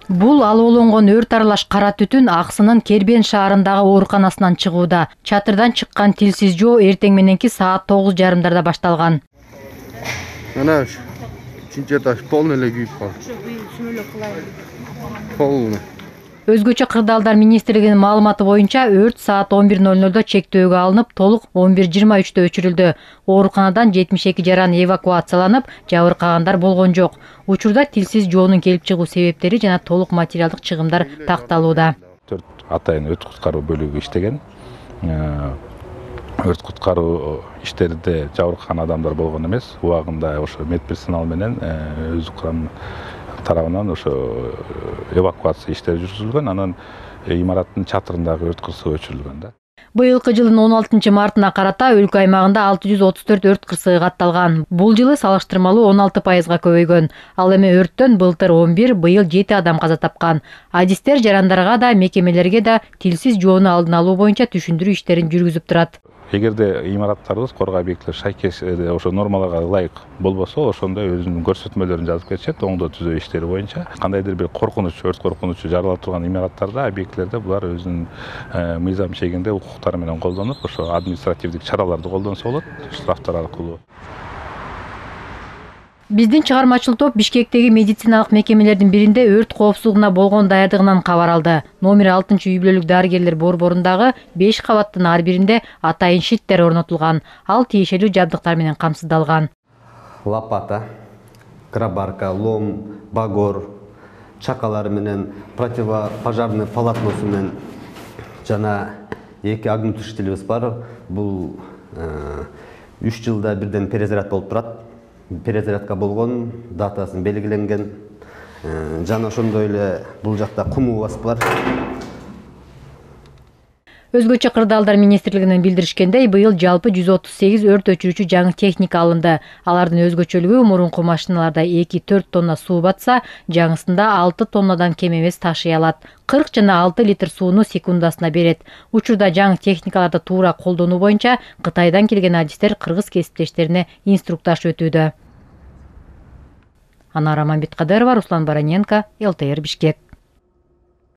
Бул алууланган өрт аралаш кара түтүн Аксынын Кербен шаарындагы ооруканасынан чыгууда. Чатырдан чыккан тилсиз жоо эртең мененки саат 9:30 башталган. Ana üçüncü etaş polnu эле күйүп калды. Полну. Өзгөчө кырдаалдар министрлигинин маалыматы боюнча өрт саат 11:00 чектөөгө алынып, толук 11:23 өчүрүлдү. Ооруканадан 72 жаран эвакуацияланып, жабыркагандар болгон жок. Учурда тилсиз жоонун келип чыгуу себептери жана толук материалдык чыгымдар такталууда. 4 атайын өрт куткаруу бөлүгү иштеген. Өрт куткаруу иштеринде жабыркаган адамдар болгон эмес. Убагында ошо медперсонал менен өз курам тарабынан ошо эвакуация иштери жүргүзүлгөн. Анан имараттын чатырындагы өрт кырсыгы өчүрүлгөн да. Быйылкы жылдын 16-мартына карата өлкө аймагында 634 өрт кырсыгы катталган. Бул жылы салыштырмалуу 16%га көбөйгөн. Ал эми өрттөн былтыр 11, быйыл 7 адам каза тапкан. Адистер жарандарга да, мекемелерге да тилсиз жоону алдын алуу боюнча түшүндүрүү иштерин жүргүзүп турат. Эгерде имараттарыбыз, коргоо объектилер шайкеш ошо нормаларга ылайык болбосо, ошондо өзүнүн көрсөтмөлөрүн жазып кетишет, оңдоо түзөө иштери боюнча. Кандайдыр бир коркунуч, өрт коркунучу жаралып турган имараттарда, объектилерде булар өзүнүн мыйзам чегинде укуктары менен колдонуп, ошо административдик чараларды колдонсо болот, штрафтар аркылуу. Биздин чыгармачыл топ Бишкектеги медициналык мекемелердин биринде өрт коопсуздугуна болгон даярдыгынан кабар алды. Номер 6-үй бүлөлүк дарыгерлер борборундагы 5 кабаттын ар биринде атайын шиттер орнотулган. Ал тиешелүү жабдыктар менен камсыздалган. Лопата, крабарка, лом, багор, чакалары менен противопожарный полотносу менен жана 2 огнетушителибиз бар. Бул 3 жылда бирден перезаряд болуп турат. Перезарядка болгон, датасын белгиленген. Жана ошондой эле бул жакта кумубыз бар. Өзгөчө кырдаалдар министрлигинен билдиришкендей, быйыл жалпы 138 өрт өчүрүүчү жаңы техника алынды. Алардын өзгөчөлүгү мурунку машиналарда 2-4 тонна суу батса, жаңысында 6 тоннадан кем эмес ташый алат. 40 жана 6 литр сууну секундасына берет. Учурда жаңы техникаларды туура колдонуу боюнча Кытайдан келген адистер кыргыз кесиптештерине инструктаж өтүүдө. Анара Мамбеткадырова, Руслан Бараненко, ЛТР Бишкек.